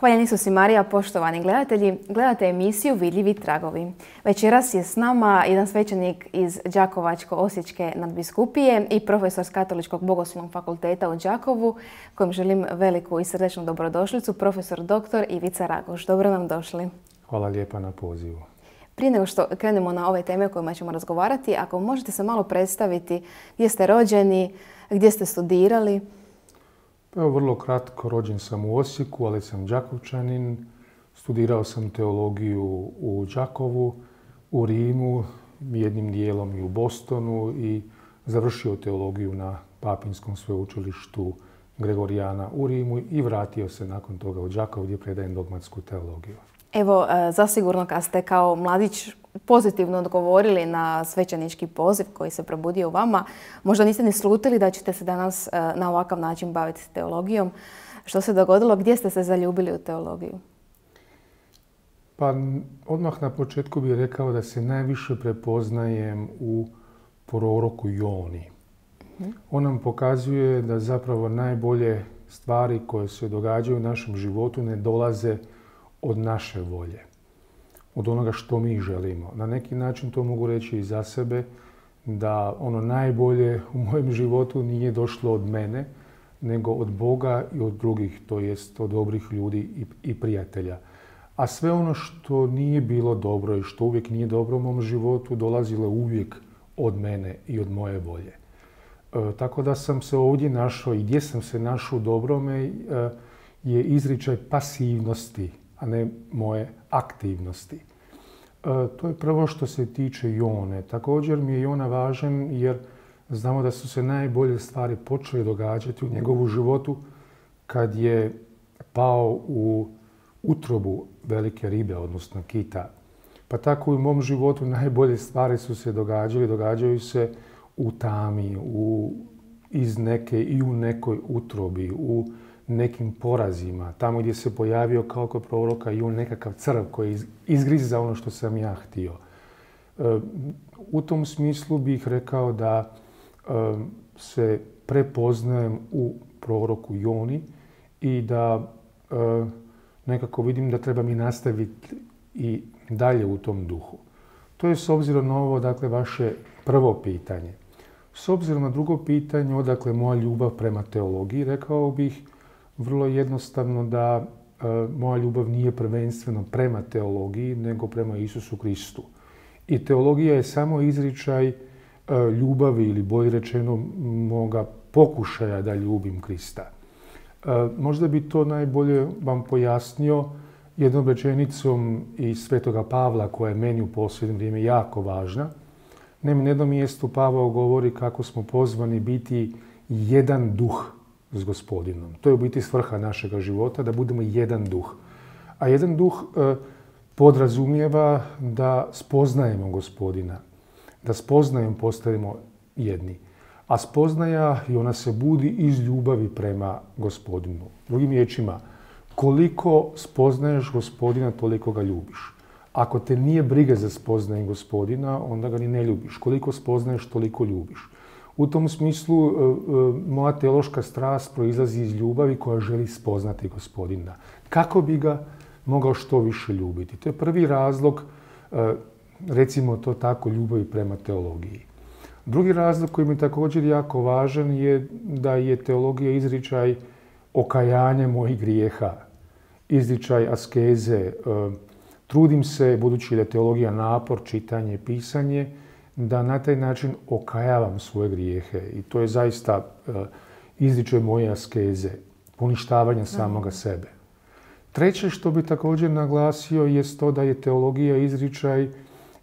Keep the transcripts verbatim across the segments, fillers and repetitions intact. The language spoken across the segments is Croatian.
Hvaljeni su si Marija, poštovani gledatelji. Gledate emisiju Vidljivi tragovi. Večeras je s nama jedan svećenik iz Đakovačko-osječke nadbiskupije i profesor s Katoličkog bogoslovnog fakulteta u Đakovu, kojem želim veliku i srdečnu dobrodošlicu, profesor doktor Ivica Raguž. Dobro nam došli. Hvala lijepa na pozivu. Prije nego što krenemo na ove teme o kojima ćemo razgovarati, ako možete se malo predstaviti gdje ste rođeni, gdje ste studirali. Pa evo, vrlo kratko, rođen sam u Osijeku, ali sam Đakovčanin. Studirao sam teologiju u Đakovu, u Rimu, jednim dijelom i u Bostonu i završio teologiju na Papinskom sveučilištu Gregorijana u Rimu i vratio se nakon toga u Đakovo gdje predajem dogmatsku teologiju. Evo, zasigurno kad ste kao mladić pozitivno odgovorili na svećenički poziv koji se probudio u vama, možda niste ni slutili da ćete se danas na ovakav način baviti teologijom. Što se dogodilo? Gdje ste se zaljubili u teologiju? Pa odmah na početku bih rekao da se najviše prepoznajem u proroku Joni. On nam pokazuje da zapravo najbolje stvari koje se događaju u našem životu ne dolaze od naše volje, od onoga što mi želimo. Na neki način to mogu reći i za sebe, da ono najbolje u mojem životu nije došlo od mene, nego od Boga i od drugih, to jest od dobrih ljudi i, i prijatelja. A sve ono što nije bilo dobro i što uvijek nije dobro u mom životu, dolazilo uvijek od mene i od moje volje. E, tako da sam se ovdje našao i gdje sam se našao u dobrome e, je izričaj pasivnosti, a ne moje aktivnosti. E, to je prvo što se tiče Jone. Također mi je Jona važan jer znamo da su se najbolje stvari počele događati u njegovu životu kad je pao u utrobu velike ribe, odnosno kita. Pa tako i u mom životu najbolje stvari su se događale, događaju se u tami, u, iz neke i u nekoj utrobi, u nekim porazima, tamo gdje se pojavio kao kod proroka i on nekakav crv koji izgriza ono što sam ja htio. E, u tom smislu bih rekao da e, se prepoznajem u proroku Joni i da e, nekako vidim da treba mi nastaviti i dalje u tom duhu. To je s obzirom na ovo, dakle, vaše prvo pitanje. S obzirom na drugo pitanje, odakle moja ljubav prema teologiji, rekao bih vrlo jednostavno da e, moja ljubav nije prvenstveno prema teologiji, nego prema Isusu Kristu. I teologija je samo izričaj e, ljubavi ili bolje rečeno moga pokušaja da ljubim Krista. E, možda bi to najbolje vam pojasnio jednom rečenicom iz Svetoga Pavla koja je meni u posljednje vrijeme jako važna. Naime, na jednom mjestu Pavao govori kako smo pozvani biti jedan duh s Gospodinom. To je u biti svrha našega života, da budemo jedan duh. A jedan duh e, podrazumijeva da spoznajemo Gospodina, da spoznajem postavimo jedni. A spoznaja i ona se budi iz ljubavi prema Gospodinu. Drugim riječima, koliko spoznaješ Gospodina, toliko ga ljubiš. Ako te nije briga za spoznajem Gospodina, onda ga ni ne ljubiš. Koliko spoznaješ, toliko ljubiš. U tom smislu moja teološka strast proizlazi iz ljubavi koja želi spoznati Gospodina. Kako bi ga mogao što više ljubiti? To je prvi razlog, recimo to tako, ljubavi prema teologiji. Drugi razlog koji mi je također jako važan je da je teologija izričaj okajanja mojih grijeha, izričaj askeze. Trudim se, budući da je teologija napor, čitanje, pisanje, da na taj način okajavam svoje grijehe. I to je zaista uh, izričaj moje askeze, poništavanja samoga sebe. Treće što bi također naglasio je to da je teologija izričaj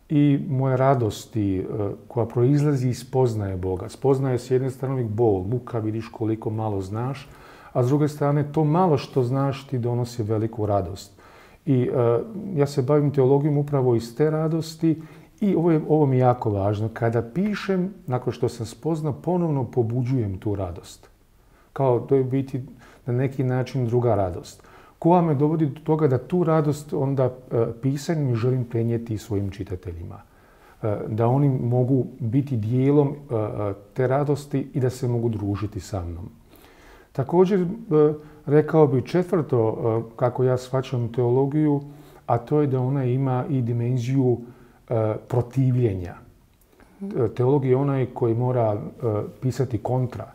i moje radosti uh, koja proizlazi iz spoznaje Boga. Spoznaje s jedne strane bol, muka, vidiš koliko malo znaš, a s druge strane to malo što znaš ti donosi veliku radost. I uh, ja se bavim teologijom upravo iz te radosti. I ovo, je, ovo mi je jako važno. Kada pišem, nakon što sam spoznao, ponovno pobuđujem tu radost. Kao to je biti na neki način druga radost. Koja me dovodi do toga da tu radost onda e, pisanjem želim prenijeti svojim čitateljima. E, da oni mogu biti dijelom e, te radosti i da se mogu družiti sa mnom. Također, rekao bi četvrto, kako ja shvaćam teologiju, a to je da ona ima i dimenziju protivljenja. Teolog je onaj koji mora pisati kontra,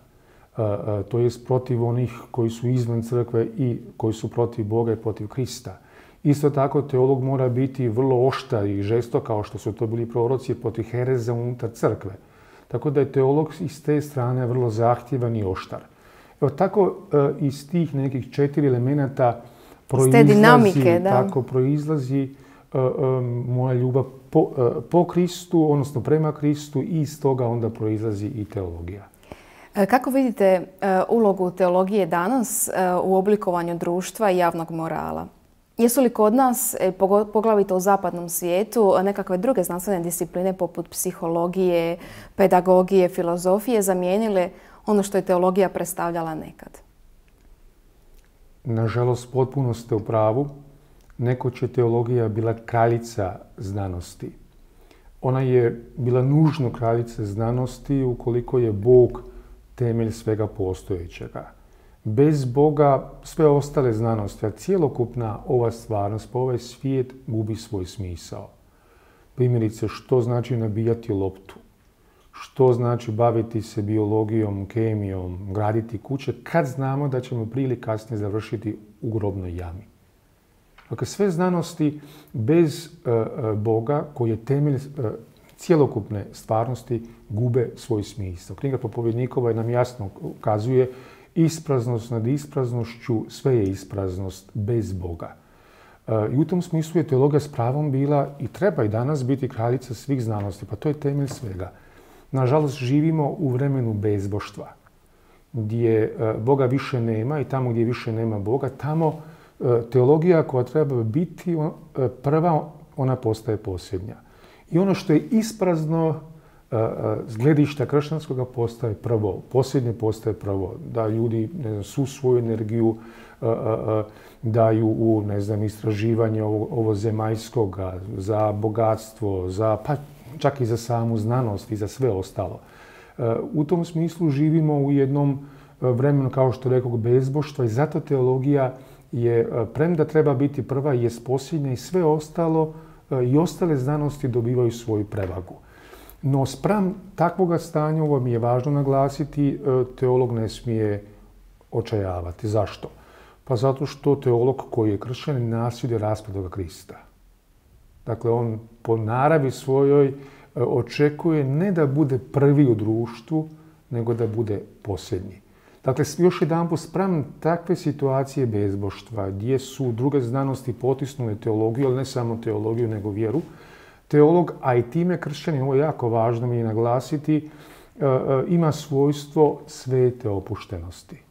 to jest protiv onih koji su izvan crkve i koji su protiv Boga i protiv Krista. Isto tako, teolog mora biti vrlo oštar i žestok, kao što su to bili proroci, protiv hereza unutar crkve. Tako da je teolog iz te strane vrlo zahtjevan i oštar. Evo, tako iz tih nekih četiri elemenata proizlazi, dinamike, da. Tako proizlazi uh, um, moja ljubav po, uh, po Kristu, odnosno prema Kristu, i iz toga onda proizlazi i teologija. Kako vidite uh, ulogu teologije danas uh, u oblikovanju društva i javnog morala? Jesu li kod nas, poglavito u zapadnom svijetu, nekakve druge znanstvene discipline poput psihologije, pedagogije, filozofije zamijenile ono što je teologija predstavljala nekad? Nažalost, potpuno ste u pravu. Nekoć je teologija bila kraljica znanosti. Ona je bila nužno kraljica znanosti ukoliko je Bog temelj svega postojećega. Bez Boga sve ostale znanosti, a cjelokupna ova stvarnost, pa ovaj svijet gubi svoj smisao. Primjerice, što znači nabijati loptu? Što znači baviti se biologijom, kemijom, graditi kuće, kad znamo da ćemo prije ili kasnije završiti u grobnoj jami? Dakle, sve znanosti bez uh, Boga, koji je temelj uh, cjelokupne stvarnosti, gube svoj smisao. Knjiga Propovjednikova nam jasno ukazuje: ispraznost nad ispraznošću, sve je ispraznost bez Boga. Uh, I u tom smislu je teologija s pravom bila i treba i danas biti kraljica svih znanosti, pa to je temelj svega. Nažalost, živimo u vremenu bezboštva, gdje Boga više nema, i tamo gdje više nema Boga, tamo teologija koja treba biti prva, ona postaje posljednja. I ono što je isprazno s gledišta kršćanskoga postaje prvo, posljednje postaje prvo. Da ljudi, ne znam, svu svoju energiju daju u, ne znam, istraživanje ovo, ovo zemaljskoga, za bogatstvo, za, pa čak i za samu znanost i za sve ostalo. U tom smislu živimo u jednom vremenu, kao što rekao, bezboštva, i zato teologija je, premda treba biti prva, je posljednja, i sve ostalo i ostale znanosti dobivaju svoju prevagu. No, spram takvoga stanja, ovo mi je važno naglasiti, teolog ne smije očajavati. Zašto? Pa zato što teolog koji je kršćanin nasljeduje raspetoga Krista. Dakle, on po naravi svojoj očekuje ne da bude prvi u društvu, nego da bude posljednji. Dakle, još jedanput, spram takve situacije bezboštva, gdje su druge znanosti potisnule teologiju, ali ne samo teologiju, nego vjeru, teolog, a i time kršćanin, ovo je jako važno mi je naglasiti, ima svojstvo svete opuštenosti.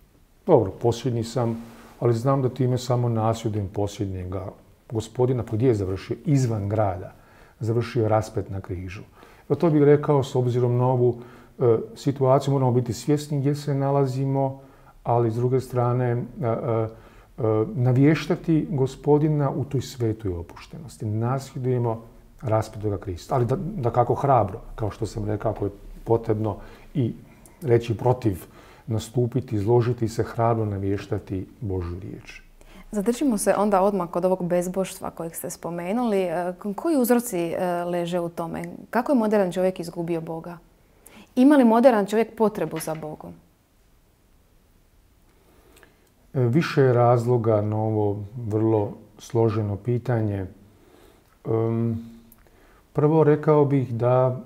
Dobro, posljednji sam, ali znam da time samo nasljedujem posljednjega Gospodina. Pa gdje je završio? Izvan grada. Završio raspet na križu. Evo, to bih rekao, s obzirom na ovu e, situaciju, moramo biti svjesni gdje se nalazimo, ali s druge strane e, e, navještati Gospodina u toj svetoj opuštenosti. Nasljedujemo raspetoga Krista. Ali da, da kako hrabro, kao što sam rekao, ako je potrebno i reći protiv, nastupiti, izložiti se, hrabro navještati Božju riječ. Zadržimo se onda odmah kod ovog bezboštva kojeg ste spomenuli. Koji uzroci leže u tome? Kako je modern čovjek izgubio Boga? Ima li modern čovjek potrebu za Bogom? Više je razloga na ovo vrlo složeno pitanje. Prvo, rekao bih da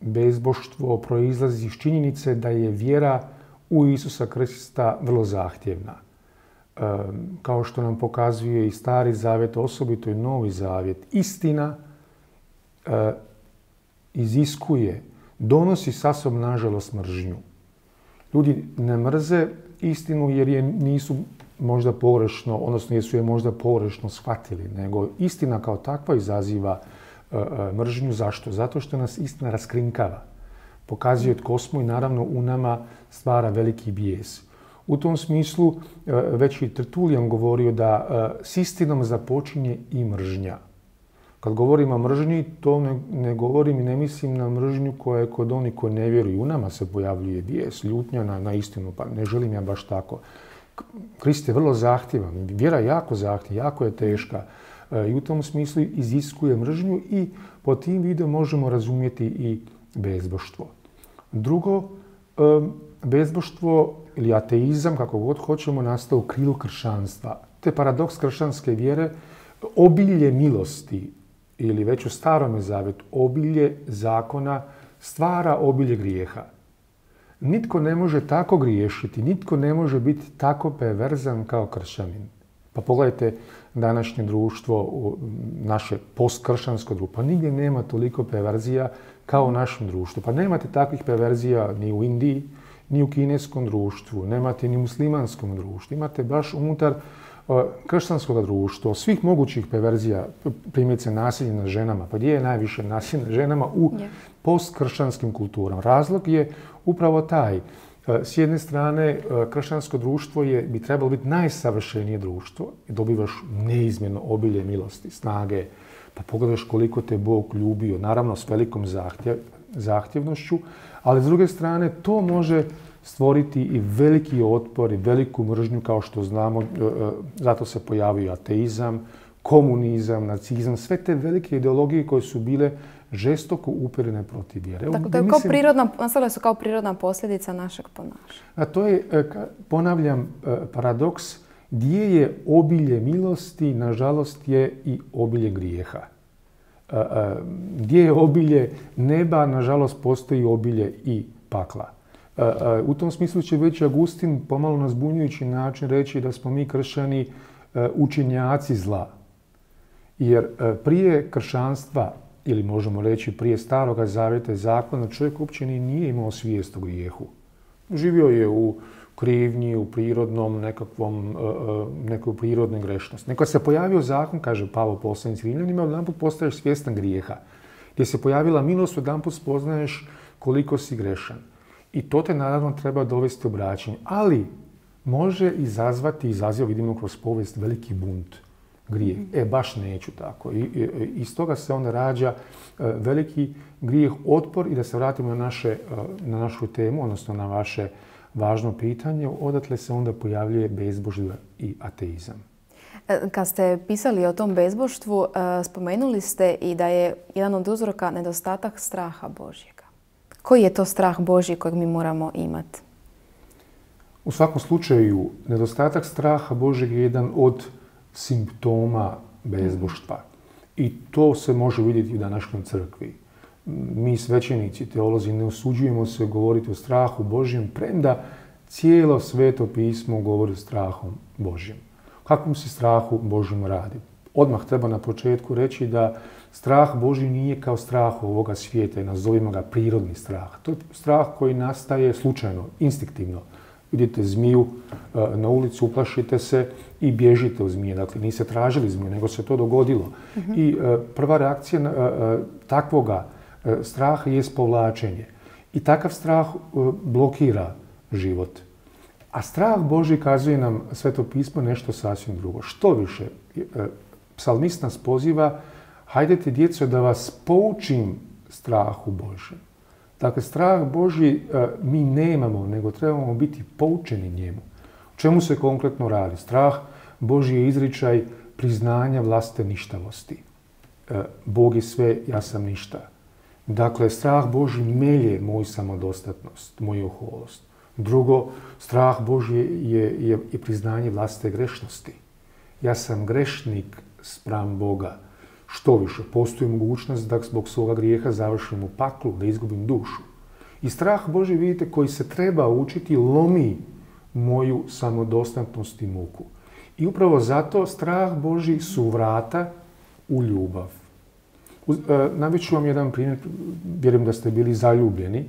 bezboštvo proizlazi iz činjenice da je vjera u Isusa Krista vrlo zahtjevna. Kao što nam pokazuje i Stari Zavjet, osobito i Novi Zavjet, istina e, iziskuje, donosi sa sobom, nažalost, mržnju. Ljudi ne mrze istinu jer je nisu možda pogrešno, odnosno jer su je možda pogrešno shvatili, nego istina kao takva izaziva e, e, mržnju. Zašto? Zato što nas istina raskrinkava, pokazuje tko smo i naravno u nama stvara veliki bijes. U tom smislu već i Tertulijan govorio da s istinom započinje i mržnja. Kad govorim o mržnji, to ne, ne govorim i ne mislim na mržnju koja je kod onih koji ne vjeruju. U nama se pojavljuje bijes, ljutnja na, na istinu, pa ne želim ja baš tako. Krist je vrlo zahtjevan, vjera je jako zahtjevna, jako je teška e, i u tom smislu iziskuje mržnju i po tim vidom možemo razumjeti i bezboštvo. Drugo, e, bezboštvo ili ateizam, kako god hoćemo, nastao u krilu kršćanstva. To je paradoks kršćanske vjere, obilje milosti ili već u Starome zavjetu obilje zakona stvara obilje grijeha. Nitko ne može tako griješiti, nitko ne može biti tako perverzan kao kršćanin. Pa pogledajte današnje društvo, naše postkršćansko društvo. Pa nigdje nema toliko perverzija kao u našem društvu. Pa nemate takvih perverzija ni u Indiji, ni u kineskom društvu, nemate ni u muslimanskom društvu. Imate baš unutar kršćanskog društva, svih mogućih perverzija, primjerice nasilje nad ženama. Pa gdje je najviše nasilje nad ženama? U postkršćanskim kulturama. Razlog je upravo taj. S jedne strane, kršćansko društvo je, bi trebalo biti najsavršenije društvo i dobivaš neizmjerno obilje milosti, snage. Pa pogledaš koliko te Bog ljubio, naravno s velikom zahtjev, zahtjevnošću, ali s druge strane to može stvoriti i veliki otpor i veliku mržnju, kao što znamo, zato se pojavio ateizam, komunizam, nacizam, sve te velike ideologije koje su bile žestoko uperene protiv vjere. Dakle, to je kao prirodna, nastale su kao prirodna posljedica našeg ponašanja. A to je, ponavljam, paradoks, gdje je obilje milosti, nažalost je i obilje grijeha. Gdje je obilje neba, nažalost postoji obilje i pakla. U tom smislu će već Agustin pomalo na zbunjujući način reći da smo mi kršćani učinjaci zla. Jer prije kršćanstva, ili možemo reći prije Staroga zavjeta i zakona, čovjek uopće nije imao svijest o grijehu. Živio je u krivnji, u prirodnom nekakvom, nekoj prirodnoj grešnosti. Nekad se pojavio zakon, kaže Pavao poslanik Rimljanima, odjedanput postaješ svjestan grijeha. Gdje se pojavila milost, odjedanput spoznaješ koliko si grešan. I to te naravno treba dovesti u obraćanje. Ali može izazvati, izaziva, vidimo kroz povijest, veliki bunt, grijeh. E, baš neću tako. I, i, iz toga se onda rađa uh, veliki grijeh, otpor. I da se vratimo na, naše, uh, na našu temu, odnosno na vaše važno pitanje, odatle se onda pojavljuje bezbožje i ateizam. Kad ste pisali o tom bezboštvu, uh, spomenuli ste i da je jedan od uzroka nedostatak straha Božjega. Koji je to strah Božji kojeg mi moramo imati? U svakom slučaju, nedostatak straha Božjeg je jedan od simptoma bezboštva. I to se može vidjeti u današnjoj crkvi. Mi svećenici, teolozi, ne osuđujemo se govoriti o strahu Božjem, premda cijelo Sveto pismo govori o strahu Božjem. Kakvom se strahu Božjem radi? Odmah treba na početku reći da strah Božji nije kao strah ovoga svijeta i nazovimo ga prirodni strah. To je strah koji nastaje slučajno, instinktivno. Vidite zmiju na ulicu, uplašite se i bježite od zmije. Dakle, niste tražili zmiju, nego se to dogodilo. Uh-huh. I prva reakcija takvoga straha je povlačenje. I takav strah blokira život. A strah Božji kazuje nam Sveto pismo nešto sasvim drugo. Što više, psalmist nas poziva, hajdete djeco da vas poučim strahu Božjem. Dakle, strah Božji mi nemamo, nego trebamo biti poučeni njemu. O čemu se konkretno radi? Strah Božji je izričaj priznanja vlastite ništavosti. Bog je sve, ja sam ništa. Dakle, strah Božji melje moju samodostatnost, moju oholost. Drugo, strah Božji je, je, je priznanje vlastite grešnosti. Ja sam grešnik spram Boga. Što više, postoji mogućnost da zbog svoga grijeha završim u paklu, da izgubim dušu. I strah Božji, vidite, koji se treba učiti, lomi moju samodostatnost i muku. I upravo zato strah Božji su vrata u ljubav. Navest ću vam jedan primjer, vjerujem da ste bili zaljubljeni.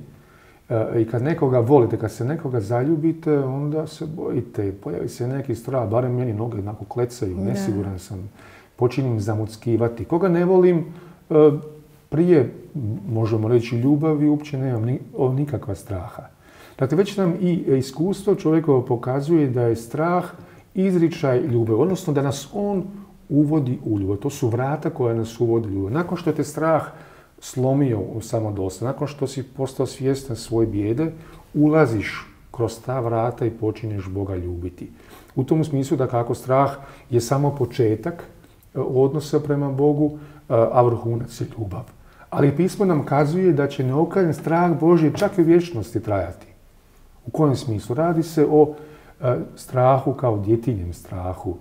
I kad nekoga volite, kad se nekoga zaljubite, onda se bojite. Pojavi se neki strah, barem meni noge onako klecaju, nesiguran sam. Počinjem zamuckivati. Koga ne volim, prije, možemo reći, ljubavi, uopće nemam nikakva straha. Dakle, već nam i iskustvo čovjekovo pokazuje da je strah izričaj ljubavi, odnosno da nas on uvodi u ljubav. To su vrata koja nas uvodi u ljubav. Nakon što te strah slomio u samodosta, nakon što si postao svjestan svoje bijede, ulaziš kroz ta vrata i počinješ Boga ljubiti. U tom smislu da kako strah je samo početak odnosa prema Bogu, a vrhunac je ljubav. Ali pismo nam kazuje da će neokaljan strah Božji čak i u vječnosti trajati. U kojem smislu? Radi se o strahu kao djetinjem strahu,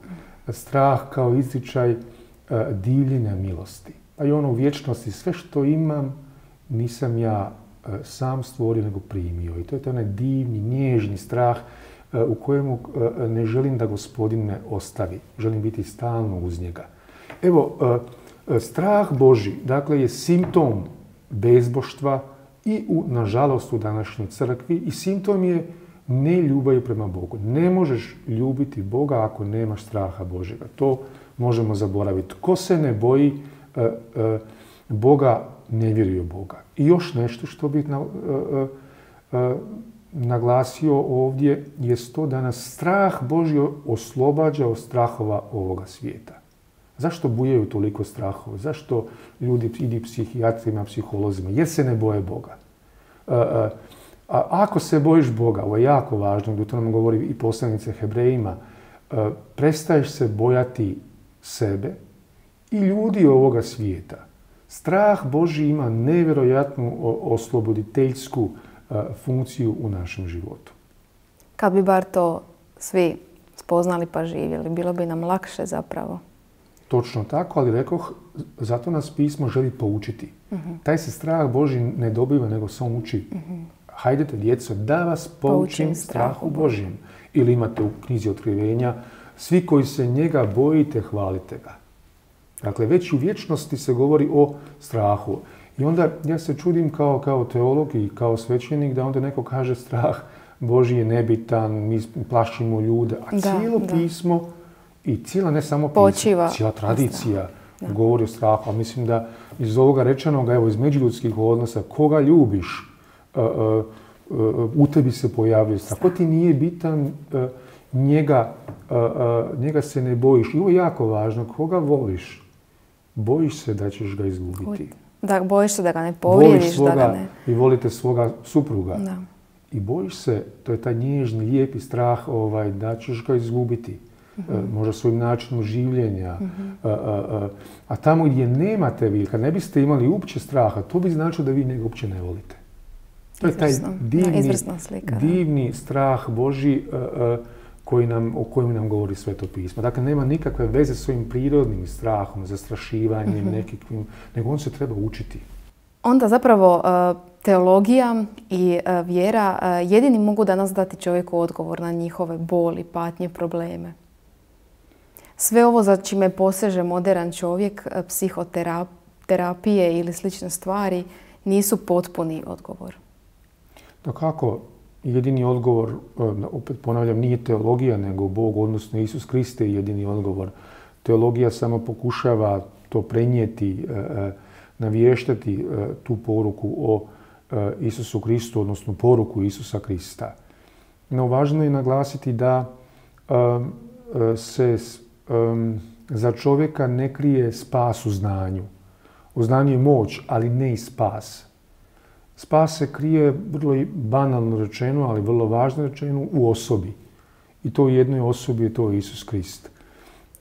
strah kao izričaj divljenja milosti. Pa i ono u vječnosti, sve što imam nisam ja sam stvorio nego primio. I to je to onaj divni, nježni strah u kojemu ne želim da Gospodin me ostavi. Želim biti stalno uz njega. Evo, strah Božji, dakle, je simptom bezboštva i, u, nažalost, u današnjoj crkvi i simptom je neljubavi prema Bogu. Ne možeš ljubiti Boga ako nemaš straha Božjega. To možemo zaboraviti. Ko se ne boji e, e, Boga, ne vjeruje u Boga. I još nešto što bih na, e, e, naglasio ovdje je to da nas strah Božji oslobađa od strahova ovoga svijeta. Zašto bujaju toliko strahova? Zašto ljudi idu psihijatrima, psiholozima? Jer se ne boje Boga. E, e, A ako se bojiš Boga, ovo je jako važno, to nam govori i poslanica Hebrejima, prestaješ se bojati sebe i ljudi ovoga svijeta. Strah Božji ima nevjerojatnu osloboditeljsku funkciju u našem životu. Kad bi bar to svi spoznali pa živjeli, bilo bi nam lakše zapravo. Točno tako, ali rekoh, zato nas pismo želi poučiti. Uh-huh. Taj se strah Božji ne dobiva, nego se on uči. Uh-huh. Hajdete, djeco, da vas poučim, poučim strahu Božjem. Ili imate u knjizi Otkrivenja, svi koji se njega bojite, hvalite ga. Dakle, već u vječnosti se govori o strahu. I onda ja se čudim kao, kao teolog i kao svećenik da onda neko kaže strah Božji je nebitan, mi plašimo ljude. A da, cijelo da. pismo i cijela, ne samo pismo, Počiva. cijela tradicija da. govori o strahu. A mislim da iz ovoga rečenoga, evo iz međuljudskih odnosa, koga ljubiš, Uh, uh, uh, u tebi se pojavljuje strah. Ako ti nije bitan, uh, njega, uh, uh, njega se ne bojiš. I ovo je jako važno. Koga voliš, bojiš se da ćeš ga izgubiti. Da, bojiš se da ga ne povrijediš. Svoga, da ga ne... I volite svoga supruga. Da. I bojiš se, to je taj nježni, lijepi strah ovaj, da ćeš ga izgubiti. Uh-huh. Uh, možda svojim načinom življenja. Uh-huh. uh, uh, uh, a tamo gdje nemate vi, kad ne biste imali uopće straha, to bi značilo da vi njega uopće ne volite. To je taj divni, da, slika, divni strah Božji uh, uh, koji nam, o kojem nam govori Sveto pismo. Dakle, nema nikakve veze s svojim prirodnim strahom, zastrašivanjem, mm-hmm. nekakvim, nego on se treba učiti. Onda zapravo uh, teologija i uh, vjera uh, jedini mogu danas dati čovjeku odgovor na njihove boli, patnje, probleme. Sve ovo za čime poseže modern čovjek, uh, psihoterapije ili slične stvari, nisu potpuni odgovor. Dakako, jedini odgovor, opet ponavljam, nije teologija, nego Bog, odnosno Isus Krist je jedini odgovor. Teologija samo pokušava to prenijeti, navještati tu poruku o Isusu Kristu, odnosno poruku Isusa Krista. No, važno je naglasiti da se za čovjeka ne krije spas u znanju. U znanju je moć, ali ne i spas. Spas se krije, vrlo banalno rečeno, ali vrlo važno rečeno, u osobi. I to u jednoj osobi je to Isus Krist.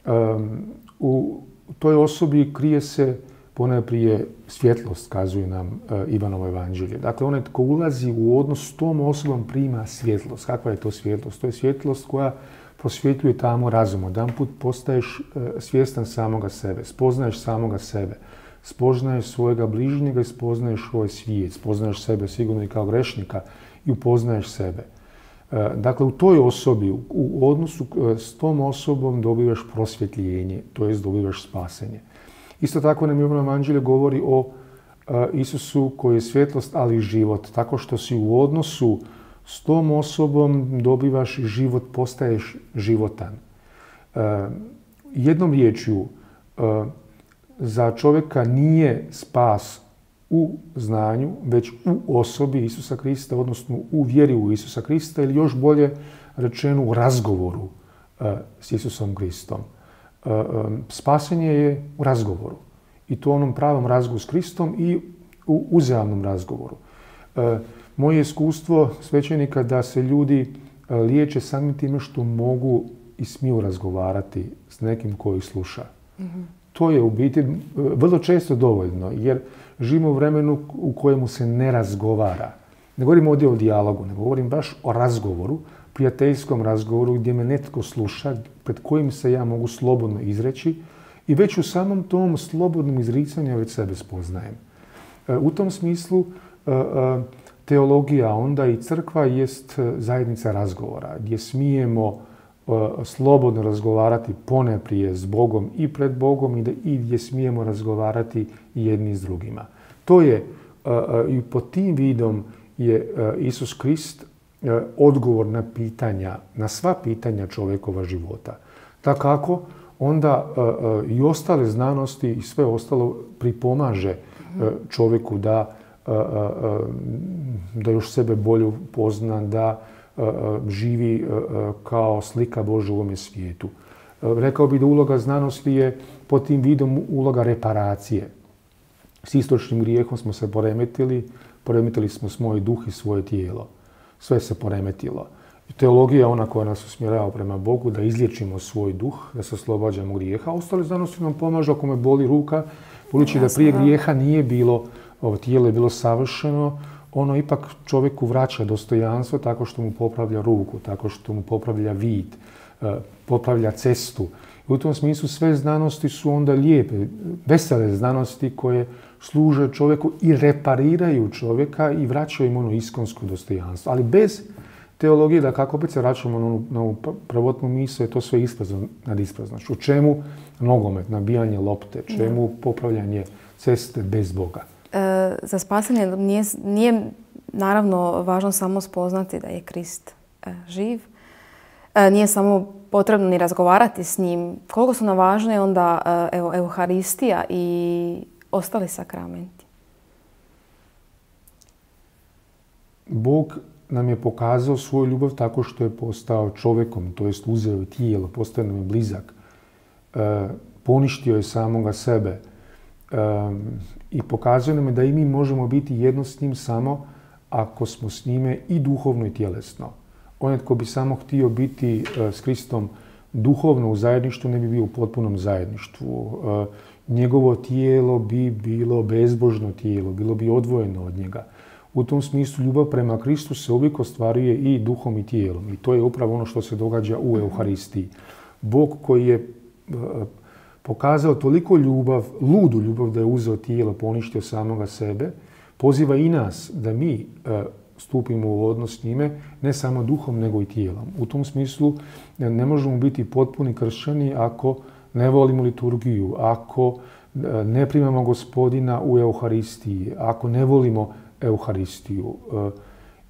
Um, u toj osobi krije se ponajprije svjetlost, kazuje nam uh, Ivanovo evanđelje. Dakle, onaj tko ulazi u odnos s tom osobom prima svjetlost. Kakva je to svjetlost? To je svjetlost koja prosvjetljuje tamo razum. Jedanput postaješ uh, svjestan samoga sebe, spoznaješ samoga sebe. Spoznaješ svojega bližnjega i spoznaješ svoj svijet. Spoznaješ sebe sigurno i kao grešnika i upoznaješ sebe. Dakle, u toj osobi, u odnosu s tom osobom dobivaš prosvjetljenje, to jest dobivaš spasenje. Isto tako nam Ivanovo evanđelje govori o Isusu koji je svjetlost, ali i život. Tako što si u odnosu s tom osobom dobivaš život, postaješ životan. Jednom riječju, za čovjeka nije spas u znanju, već u osobi Isusa Krista, odnosno u vjeri u Isusa Krista ili još bolje rečeno u razgovoru uh, s Isusom Kristom. Spasenje je u razgovoru. I to u onom pravom razgovoru s Kristom i u uzajamnom razgovoru. Moje iskustvo svećenika da se ljudi liječe samim time što mogu i smiju razgovarati s nekim koji sluša. Mm-hmm. To je u biti vrlo često dovoljno, jer živimo u vremenu u kojemu se ne razgovara. Ne govorim ovdje o dijalogu, ne govorim baš o razgovoru, prijateljskom razgovoru gdje me netko sluša, pred kojim se ja mogu slobodno izreći i već u samom tom slobodnom izricanju već sebe spoznajem. U tom smislu teologija onda i crkva jest zajednica razgovora gdje smijemo slobodno razgovarati ponajprije s Bogom i pred Bogom i gdje smijemo razgovarati jedni s drugima. To je i pod tim vidom je Isus Krist odgovor na pitanja, na sva pitanja čovjekova života. Tako onda i ostale znanosti i sve ostalo pripomaže čovjeku da, da još sebe bolje pozna, da živi kao slika Božja u ovome svijetu. Rekao bih da uloga znanosti je pod tim vidom uloga reparacije. S istočnim grijehom smo se poremetili, poremetili smo svoj duh i svoje tijelo. Sve se poremetilo. Teologija je ona koja nas usmjerava prema Bogu, da izliječimo svoj duh, da se oslobađamo grijeha. A ostale znanosti nam pomažu ako me boli ruka, budući da prije grijeha nije bilo, ovo tijelo je bilo savršeno, ono ipak čovjeku vraća dostojanstvo tako što mu popravlja ruku, tako što mu popravlja vid, popravlja cestu. I u tom smislu sve znanosti su onda lijepe, vesele znanosti koje služe čovjeku i repariraju čovjeka i vraćaju im ono iskonsko dostojanstvo. Ali bez teologije, da kako opet se vraćamo na ovu, na ovu prvotnu misao, je to sve isprazno nad ispraznošću. U čemu nogomet, nabijanje lopte, čemu popravljanje ceste bez Boga? E, za spasanje nije, nije naravno važno samo spoznati da je Krist e, živ. E, nije samo potrebno ni razgovarati s njim. Koliko su nam važne onda e, evo, Euharistija i ostali sakramenti? Bog nam je pokazao svoju ljubav tako što je postao čovjekom, to jest uzeo je tijelo, postao nam je blizak, e, poništio je samoga sebe e, i pokazuje nam da i mi možemo biti jedno s njim samo ako smo s njime i duhovno i tjelesno. Onaj tko bi samo htio biti e, s Kristom duhovno u zajedništvu, ne bi bio u potpunom zajedništvu. E, njegovo tijelo bi bilo bezbožno tijelo, bilo bi odvojeno od njega. U tom smislu ljubav prema Kristu se uvijek ostvaruje i duhom i tijelom. I to je upravo ono što se događa u Euharistiji. Bog koji je pokazao toliko ljubav, ludu ljubav da je uzeo tijelo, poništio samoga sebe, poziva i nas da mi stupimo u odnos s njime, ne samo duhom nego i tijelom. U tom smislu ne možemo biti potpuni kršćani ako ne volimo liturgiju, ako ne primamo Gospodina u Euharistiji, ako ne volimo Euharistiju.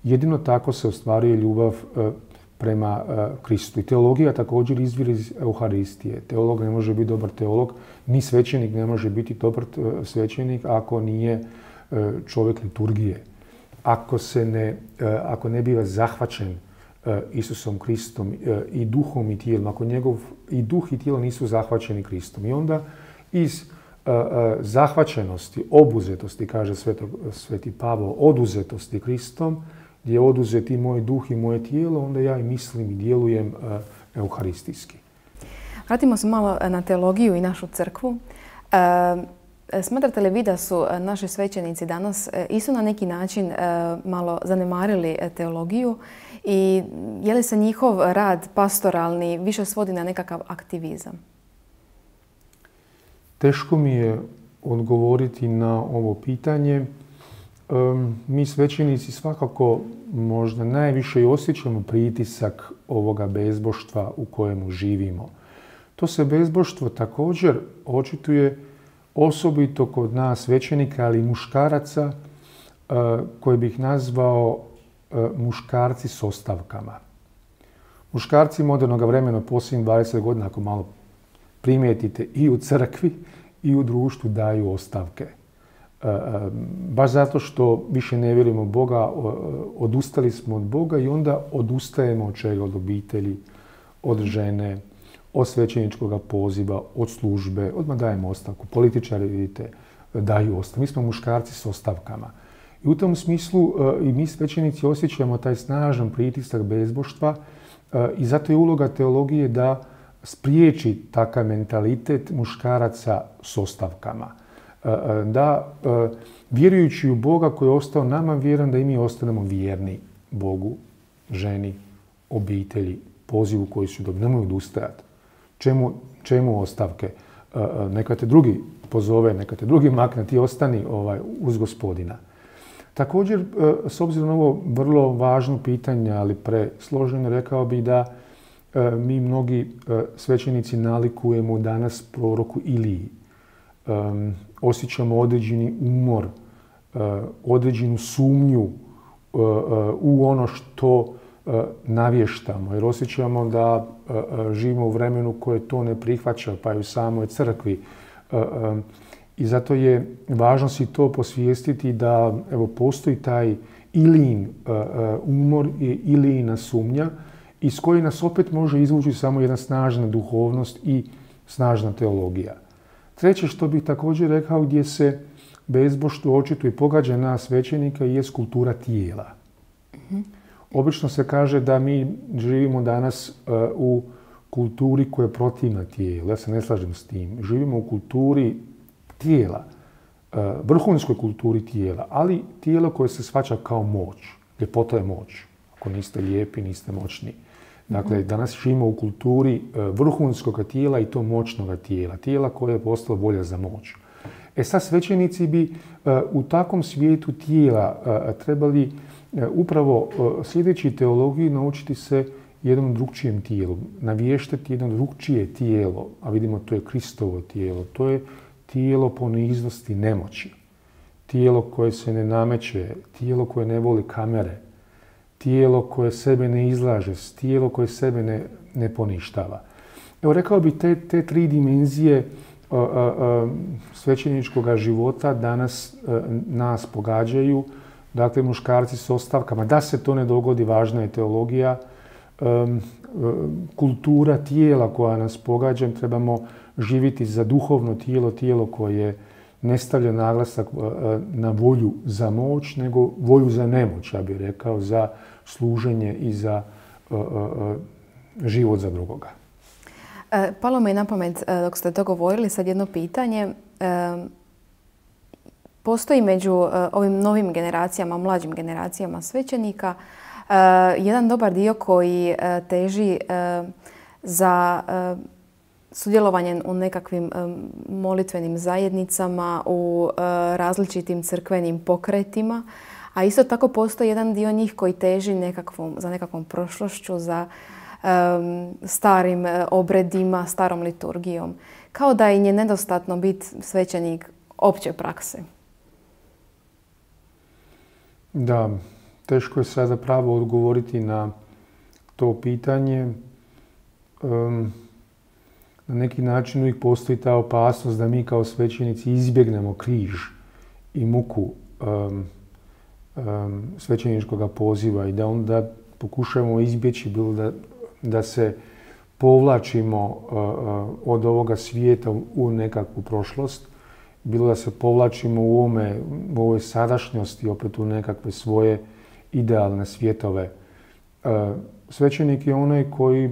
Jedino tako se ostvaruje ljubav prema Kristu. I teologija također izvire iz Euharistije. Teolog ne može biti dobar teolog, ni svećenik ne može biti dobar svećenik ako nije čovjek liturgije. Ako, se ne, ako ne biva zahvaćen Isusom Kristom i duhom i tijelom, ako njegov i duh i tijelo nisu zahvaćeni Kristom. I onda iz zahvaćenosti, obuzetosti, kaže Sveto, Sveti Pavao, oduzetosti Kristom, gdje je oduzet i moj duh i moje tijelo, onda ja i mislim i djelujem euharistijski. Vratimo se malo na teologiju i našu crkvu. Smatrate li vi da su naši svećenici danas isto na neki način malo zanemarili teologiju i je li se njihov rad pastoralni više svodi na nekakav aktivizam? Teško mi je odgovoriti na ovo pitanje. Mi svećenici svakako možda najviše i osjećamo pritisak ovoga bezboštva u kojemu živimo. To se bezboštvo također očituje osobito kod nas svećenika, ali i muškaraca koje bih nazvao muškarci s ostavkama. Muškarci modernog vremena posljednjih dvadeset godina, ako malo primijetite, i u crkvi i u društvu daju ostavke. Baš zato što više ne vjerujemo Boga, odustali smo od Boga i onda odustajemo od čega? Od obitelji, od žene, od svećeničkog poziva, od službe, odmah dajemo ostavku. Političari, vidite, daju ostavku. Mi smo muškarci s ostavkama. I u tom smislu i mi svećenici osjećamo taj snažan pritisak bezboštva i zato je uloga teologije da spriječi takav mentalitet muškaraca s ostavkama. Da, vjerujući u Boga koji je ostao nama vjeran, da i mi ostanemo vjerni Bogu, ženi, obitelji, pozivu koji su dobili. Nemoj odustajati. Čemu, čemu ostavke? Neka te drugi pozove, neka te drugi makne, ti ostani ovaj, uz Gospodina. Također, s obzirom na ovo vrlo važno pitanje, ali presloženo, rekao bih da mi mnogi svećenici nalikujemo danas proroku Iliji. Osjećamo određeni umor, određenu sumnju u ono što navještamo, jer osjećamo da živimo u vremenu koje to ne prihvaća, pa i u samoj crkvi. I zato je važno si to posvijestiti da evo, postoji taj Ilijin umor i Ilijina sumnja iz koje nas opet može izvući samo jedna snažna duhovnost i snažna teologija. Treće što bih također rekao gdje se bezboštvo očito i pogađa nas svećenika je kultura tijela. Mm-hmm. Obično se kaže da mi živimo danas uh, u kulturi koja je protivna tijelu. Ja se ne slažem s tim. Živimo u kulturi tijela, uh, vrhunskoj kulturi tijela, ali tijelo koje se shvaća kao moć. Ljepota je moć. Ako niste lijepi, niste moćni. Dakle, mm-hmm. danas živimo u kulturi uh, vrhunskog tijela i to moćnog tijela. Tijela koje je postalo volja za moć. E sad, svećenici bi uh, u takvom svijetu tijela uh, trebali upravo sljedeći teologiji naučiti se jednom drugčijem tijelu, navještati jedno drugčije tijelo, a vidimo to je Kristovo tijelo, to je tijelo poniznosti nemoći, tijelo koje se ne nameće, tijelo koje ne voli kamere, tijelo koje sebe ne izlaže, tijelo koje sebe ne, ne poništava. Evo, rekao bih te, te tri dimenzije a, a, a, svećeničkog života danas a, nas pogađaju. Dakle, muškarci s ostavkama. Da se to ne dogodi, važna je teologija. Um, kultura tijela koja nas pogađa, trebamo živjeti za duhovno tijelo, tijelo koje ne stavlja naglasak uh, na volju za moć, nego volju za nemoć, ja bih rekao, za služenje i za uh, uh, život za drugoga. E, palo me i na pamet, dok ste to govorili, sad jedno pitanje. E, Postoji među uh, ovim novim generacijama, mlađim generacijama svećenika, uh, jedan dobar dio koji uh, teži uh, za uh, sudjelovanje u nekakvim um, molitvenim zajednicama, u uh, različitim crkvenim pokretima, a isto tako postoji jedan dio njih koji teži nekakvom, za nekakvom prošlošću, za um, starim uh, obredima, starom liturgijom. Kao da im je nedostatno biti svećenik opće prakse. Da, teško je sada pravo odgovoriti na to pitanje. Um, na neki način uvijek postoji ta opasnost da mi kao svećenici izbjegnemo križ i muku um, um, svećeničkog poziva i da onda pokušamo izbjeći bilo da, da se povlačimo uh, uh, od ovoga svijeta u nekakvu prošlost, bilo da se povlačimo u, ovome, u ovoj sadašnjosti opet u nekakve svoje idealne svjetove. Uh, Svećenik je onaj koji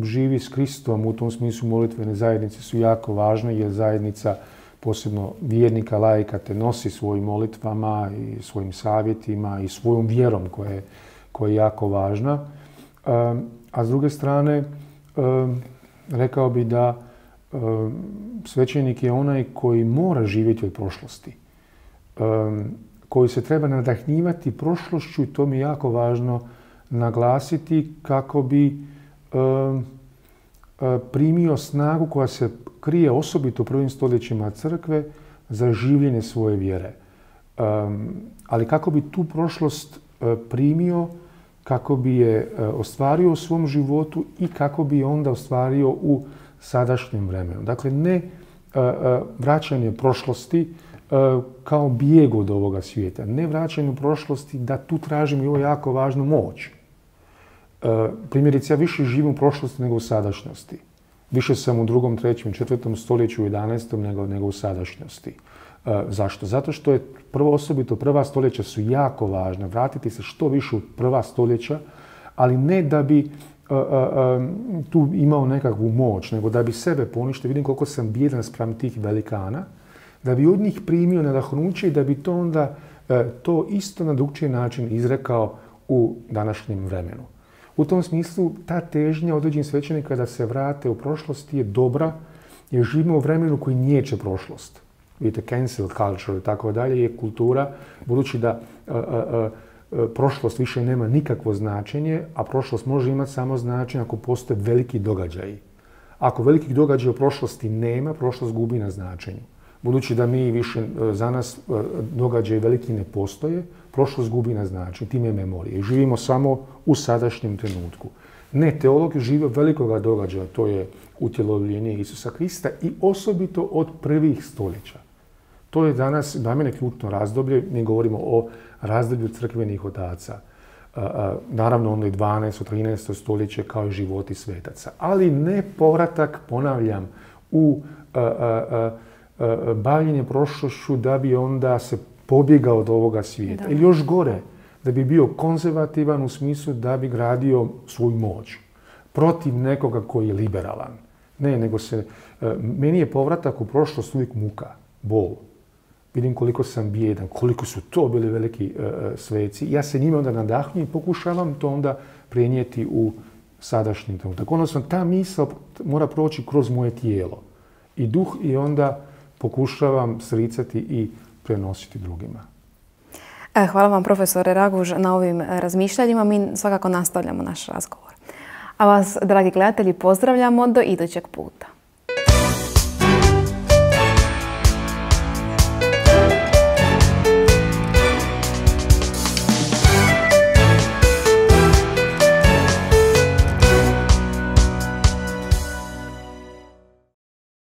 živi s Kristom, u tom smislu molitvene zajednice su jako važne jer zajednica, posebno vjernika, laika, te nosi svojim molitvama i svojim savjetima i svojom vjerom koja je, koja je jako važna. Um, a s druge strane, um, rekao bi da um, svećenik je onaj koji mora živjeti od prošlosti, um, koji se treba nadahnjivati prošlošću i to mi je jako važno naglasiti kako bi um, primio snagu koja se krije osobito u prvim stoljećima crkve za življenje svoje vjere. Um, ali kako bi tu prošlost uh, primio, kako bi je uh, ostvario u svom životu i kako bi je onda ostvario u sadašnjem vremenu. Dakle, ne uh, uh, vraćanje prošlosti uh, kao bijeg od ovoga svijeta, ne vraćanje u prošlosti da tu tražimo i ovo jako važnu moć. Uh, primjerice, ja više živim u prošlosti nego u sadašnjosti. Više sam u drugom, trećem, četvrtom stoljeću, u jedanaestom nego, nego u sadašnjosti. E, zašto? Zato što je prvo osobito prva stoljeća su jako važna. Vratiti se što više u prva stoljeća, ali ne da bi e, e, tu imao nekakvu moć, nego da bi sebe poništio. Vidim koliko sam bijedan spram tih velikana, da bi od njih primio nadahnuće i da bi to onda e, to isto na drugčiji način izrekao u današnjem vremenu. U tom smislu, ta težnja određenih svećenika da se vrate u prošlost je dobra, jer živimo u vremenu koji niječe prošlost. Vidite, cancel culture i tako dalje je kultura, budući da a, a, a, prošlost više nema nikakvo značenje, a prošlost može imati samo značenje ako postoje veliki događaji. Ako velikih događaja u prošlosti nema, prošlost gubi na značenju. Budući da mi više, za nas događaji veliki ne postoje, prošlost gubi na značenju, time je memorija. I živimo samo u sadašnjem trenutku. Ne, teolog žive velikoga događaja, to je utjelovljenje Isusa Krista i osobito od prvih stoljeća. To je danas, za mene, ključno razdoblje. Mi govorimo o razdoblju crkvenih otaca. Naravno, ono je dvanaesto trinaesto stoljeće kao i životi svetaca. Ali ne povratak, ponavljam, u a, a, a, bavljenje prošlošću da bi onda se pobjegao od ovoga svijeta. Da. Ili još gore, da bi bio konzervativan u smislu da bi gradio svoju moć protiv nekoga koji je liberalan. Ne, nego se, meni je povratak u prošlost uvijek muka, bol. Vidim koliko sam bijedan, koliko su to bili veliki uh, sveci. Ja se njima onda nadahnujem i pokušavam to onda prenijeti u sadašnji trenutak. Odnosno, ta misao mora proći kroz moje tijelo i duh i onda pokušavam sricati i prenositi drugima. Hvala vam, profesore Raguž, na ovim razmišljanjima. Mi svakako nastavljamo naš razgovor. A vas, dragi gledatelji, pozdravljamo do idućeg puta.